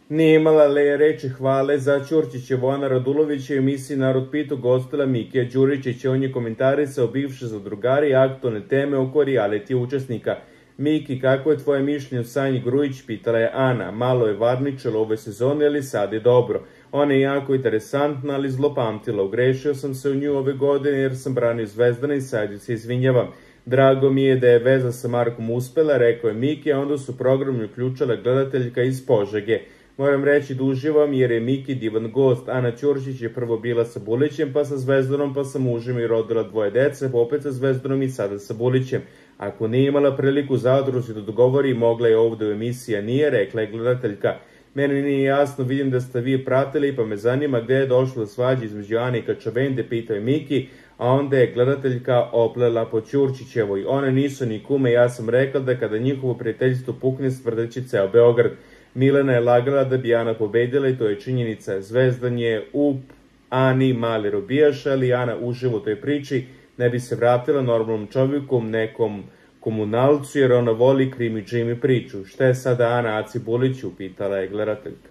Nije imala reči hvale za Ćurčićevu. Ana Radulović je u emisiji Narod pita gostila Mikija Đuričića. On je komentarisao bivše zadrugari i aktualne teme oko reality učesnika. Miki, kako je tvoje mišljenje o Sanji Grujić, pitala je Ana. Malo je varničala ove sezone, ali sad je dobro. Ona je jako interesantna, ali zlopamtila. Ugrešio sam se u nju ove godine jer sam branio Zvezdana i sad se izvinjavam. Drago mi je da je veza sa Markom uspela, rekao je Miki, a onda su program uključila gledateljka iz Požege. Moram reći da uživam jer je Miki divan gost. Ana Ćurčić je prvo bila sa Bulićem, pa sa Zvezdanom, pa sa mužem i rodila 2 dece, pa opet sa Zvezdanom i sada sa Bulićem. Ako nije imala priliku zadruzi da dogovori, mogla je ovdje u emisiji, nije, rekla je gledateljka. Meni nije jasno, vidim da ste vi pratili, pa me zanima gdje je došlo do svađe između Ane i Kačavende, pitao je Miki, a onda je gledateljka oplela po Ćurčićevoj. One nisu ni kume, ja sam rekla da kada njihovo prijateljstvo pukne, stvrdeći ceo Beograd. Milena je lagala da bi Ana pobedila i to je činjenica. Zvezdan je u Ani mali robijaš, ali Ana uživa u toj priči, ne bi se vratila normalnom čovjeku, nekom komunalcu, jer ona voli krimi džimi priču. Šta je sada Ana Aci Buliću, pitala je gledateljka.